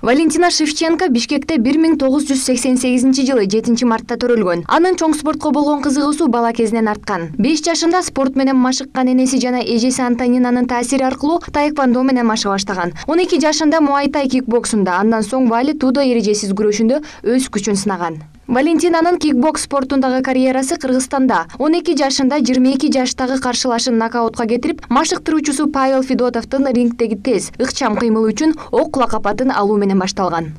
Валентина Шевченко Бишкекте 1988-жылы 7 мартта төрөлгөн. Анын чоң спортко болгон кызыгуусу бала кезинен арткан. 5 жашында спорт менен машыккан энеси жана эжеси Антонинанын таасири аркылуу таэквондо менен машыга баштаган. 12 жашында муайтай кикбоксунда, андан соң вали тудо эрежесиз күрөшүндө өз күчүн сынаган. Валентинанын кикбокс спортундагы карьерасы Кыргызстанда. 12 жашында 22 жаштагы каршылашын нокаутка кетирип, машыктыруучусу Павел Федотовдун рингдеги тез, ыкчам кыймылы үчүн ок лакапатын алуу менен башталган.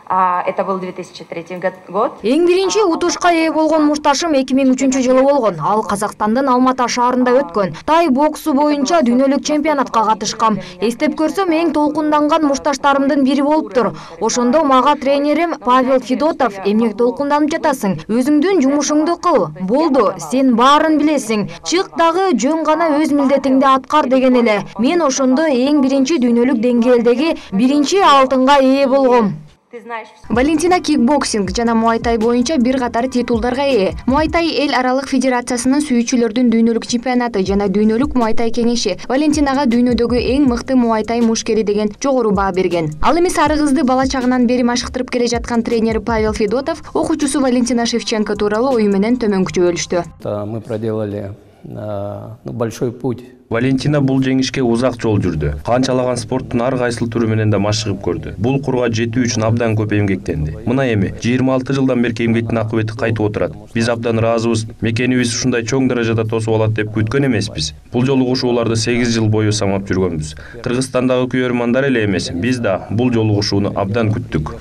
Это был 2003 год. Эң биринчи утушка ээ болгон мушташым 2003-жылы болгон. Ал Казакстандын Алматы шаарында өткөн. Тай боксу боюнча дүйнөлүк чемпионатка катышкам. Эстеп көрсөм, эң толкунданган мушташтарымдын бири болуптур. Ошондо мага тренерим Павел Федотов: эмнек толкунданып жатасың? Өзүңдүн жумушуңду кыл. Болду, сен баарын билесиң. Чык дагы жөн гана өз милдетиңди аткар деген эле. Мен ошондо эң биринчи дүйнөлүк деңгээлдеги биринчи алтынга ээ болгом. Валентина кикбоксинг жана муайтай боюнча бир катар титулдарга ээ. Муайтай эл аралык федерациясынын сүйүүчүлөрдүн дүйнөлүк чемпионаты жана дүйнөлүк муайтай кеңеши Валентинага дүйнөдөгү эң мыкты муайтай мушкери деген жогору баа берген. Ал эми сары кызды бала чагынан бери машыктырып келе жаткан тренери Павел Федотов окуучусу Валентина Шевченко тууралуу ою менен төмөнкүчө бөлүштү. Мы проделали большой путь. Валентина бул жеңишке узак жол жүрдү. Канчалаган спорттун ар кайсыл түрү менен да машыгып көрдү. Бул курга жетүү үчүн абдан көп эмгектенди. Мына эми 26 жылдан берки эмгектин акыбети кайтып отурат. Биз абдан ыраазыбыз. Мекенибиз ушундай чоң даражада тосуп алат деп күткөн эмеспиз. Бул жолу кушууларды 8 жыл бою самап жүргөнбүз. Кыргызстандагы күйөрмандар эле эмес, биз да бул жолу кушууну абдан күттүк.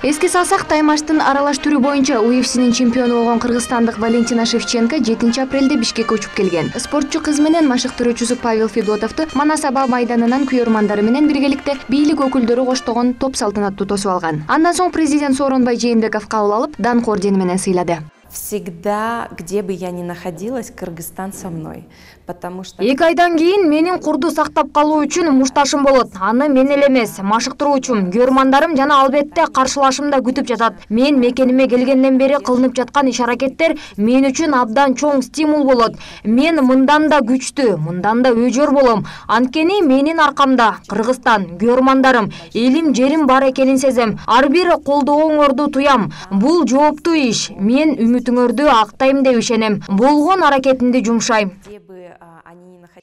Эске салсак, таймаштын аралаш түрү боюнча UFC'нин чемпиону болгон кыргызстандык Валентина Шевченко 7 апрелде Бишкекке учуп келген. Спортчу кыз менен машыктыруучусу Павел Федотовду Манас аба майданынан күйөрмандары менен биргеликте бийлик өкүлдөрү коштогон топ салтанаттуу тосуп алган. Андан соң президент Сооронбай Жээнбеков кабыл алып, даңк ордени менен сыйлады. Всегда, где бы я ни находилась, Кыргызстан со мной. Потому что 2 айдан кийин менин курду сактап калуу үчүн мушташым болот. Аны мен эле эмес, машыктыруучум, күйөрмандарым жана албетте каршылашым да күтүп жатат. Мен мекениме келгенден бери кылынып жаткан иш-аракеттер мен үчүн абдан чоң стимул болот. Мен мындан да күчтүү, мындан да өжөр болом. Анткени менин аркамда Кыргызстан, күйөрмандарым, элим, жерим бар экенин сезем. Ар бир колдооңорду туям. Бул жооптуу иш. Мен үмүтүңөрдү актайм деп ишенем. Болгон аракетимди жумшайм.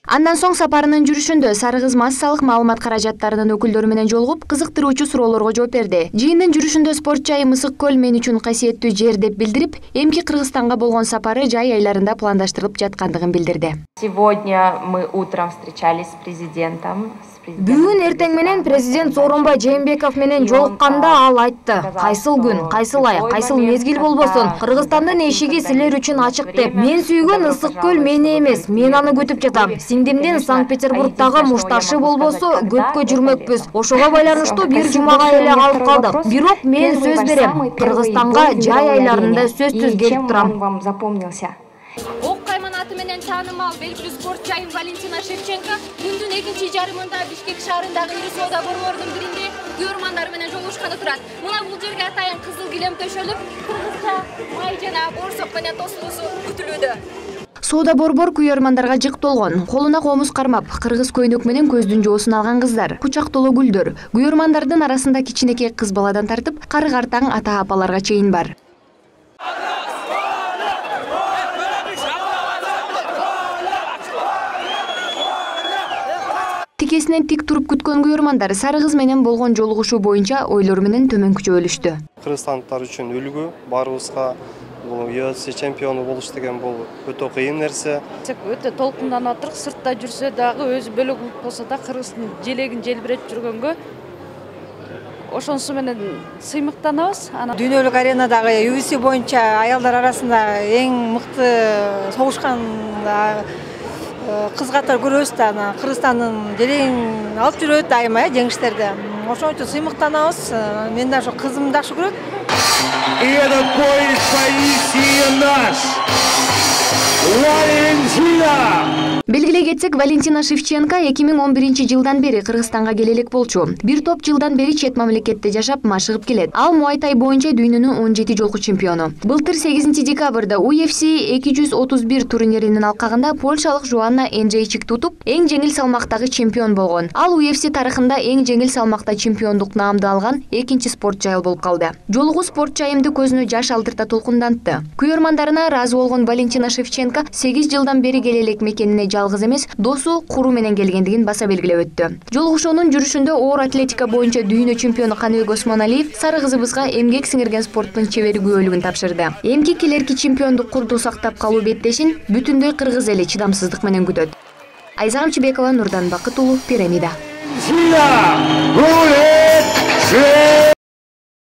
Андан соң сапарынын жүрүшүндө сары кыз массалык маалымат каражаттарынын өкүлдөрү менен жолугуп, кызыктыруучу суроолорго жооп берди. Жыйындын жүрүшүндө спорт жайы Мысык көл мен үчүн касиеттүү жер деп билдирип, эмки Кыргызстанга болгон сапары жай айларында пландаштырылып жаткандыгын билдирди. Сегодня мы утром встречались с президентом. Бүгүн эртең менен президент Сооронбай Жээнбеков менен жолукканда ал айтты: кайсыл күн, кайсыл ай, кайсыл мезгил болбосун, Кыргызстандын эшиги силер үчүн ачык деп. Мен сүйгөн Ысык көл мени эмес, мен аны күтүп жатам. Сиңдимдин Санкт-Петербургдагы мушташы болбосо көпкө жүрмөкпүз. Ошого байланыштуу бир жумага эле калып калдык. Бирок мен сөз берем, Кыргызстанга жай айларында сөзсүз келип турам. Ок кайманаты менен таанымал белгилүү спорт жайым Валентина Шевченко күндүн экинчи жарымында Бишкек шаарындагы ири соода борборунун биринде күйөрмандар менен жолугушканы турат. Мына бул жерге атайын кызыл килем төшөлүп, кыргызча май жана борсок менен тосулуусу күтүлүүдө. Соода борбор күйөрмандарга жык толгон. Колуна комуз кармап, кыргыз көйнөк менен көздүн жоосун алган кыздар, кучактолуу гүлдөр. Күйөрмандардын арасында кичинекей кыз баладан тартып, кары картаң ата-апаларга чейин бар. Тикесинен тик туруп күткөн күйөрмандар сары кыз менен болгон жолугушуу боюнча ойлору менен төмөнкүчө бөлүштү. Кыргызстандыктар үчүн үлгү, барыбызга бул UFC чемпиону болуш деген бул өтө кыйын нерсе. Өтө толкунданып атырык, сыртта жүрсө дагы өзү бөлөк болсо да кыргыздын желегин желбиретип жүргөнгө ошонусу менен сыймыктанабыз. Дүйнөлүк аренадагы UFC боюнча аялдар арасында эң мыкты согушкан кыз катары көрөбүз да, Кыргызстандын желегин алып жүрөт айыма жеңиштерде. Ошон үчүн сыймыктанабыз. Мен да ошо кызымды жакшы көрөт. И этот поезд поистине наш. Валентина! эле кетсек, Валентина Шевченко 2011-жылдан бери Кыргызстанга келе элек болчу. Бир топ жылдан бери чет мамлекетте жашап, машыгып келет. Ал Муайтай боюнча дүйнөнүн 17 жолку чемпиону. Былтыр 8 декабрда UFC 231 турниринин алкагында польшалык Жоанна Энджейчикти утуп, эң жеңил салмактагы чемпион болгон. Ал UFC тарыхында эң жеңил салмакта чемпиондук наамды алган экинчи спортчу айыл болуп калды. Жолугу спортчу айымды көзүнө жаш алдырта толкундантты. Күйөрмандарына ыраазы болгон Валентина Шевченко 8 жылдан бери келе элек мекенине жалгыз эмес, досу куру менен келгендигин баса белгилеп өттү. Жолугушуунун жүрүшүндө оор атлетика боюнча дүйнө чемпиону Каныбек Осмоналиев сары кызыбызга эмгек сиңирген спорттун чебери күбөлүгүн тапшырды. Эмки келерки чемпиондук курду сактап калуу беттешин бүтүндөй кыргыз эли чыдамсыздык менен күтөт. Айза Камчыбекова, Нурдан Бакыт уулу, Пирамида.